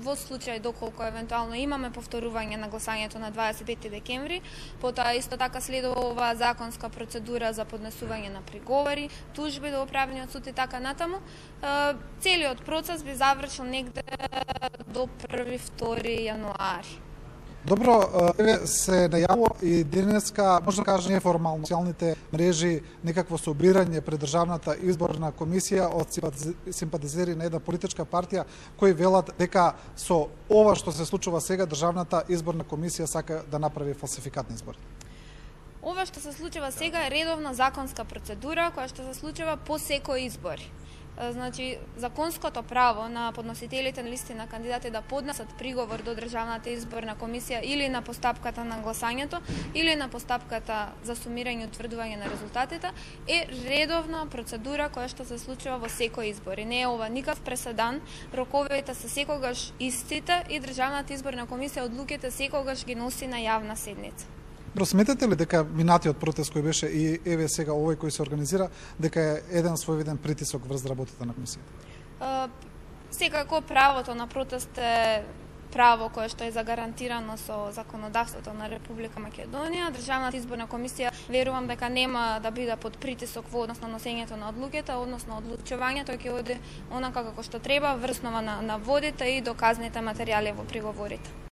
во случај доколку евентуално имаме повторување на гласањето на 25 декември, потоа исто така следува оваа законска процедура за поднесување на приговори, тужби до управниот суд и така натаму. Целиот процес би завршил негде до 1-2 јануари. Добро, еве се најавува и денеска, може да кажа неформално, социјалните мрежи некакво собирање пред Државната изборна комисија од симпатизери на една политичка партија кои велат дека со ова што се случува сега Државната изборна комисија сака да направи фалсификатни избори. Ова што се случува сега е редовна законска процедура која што се случува по секој избори. Значи, законското право на подносителите на листи на кандидати да поднесат приговор до Државната изборна комисија или на постапката на гласањето, или на постапката за сумирање и утврдување на резултатите, е редовна процедура која што се случува во секој избори. Не е ова никаков преседан, роковите се секогаш истите и Државната изборна комисија одлуките секогаш ги носи на јавна седница. Сметате ли дека минатиот протест кој беше и еве сега овој кој се организира, дека е еден своевиден притисок врз работата на комисијата? Секако правото на протест е право кое што е загарантирано со законодавството на Република Македонија. Државната изборна комисија верувам дека нема да биде под притисок во однос на носењето на одлуките, односно одлучувањето ќе оди онака како што треба врз основа на водите и доказните материјали во приговорите.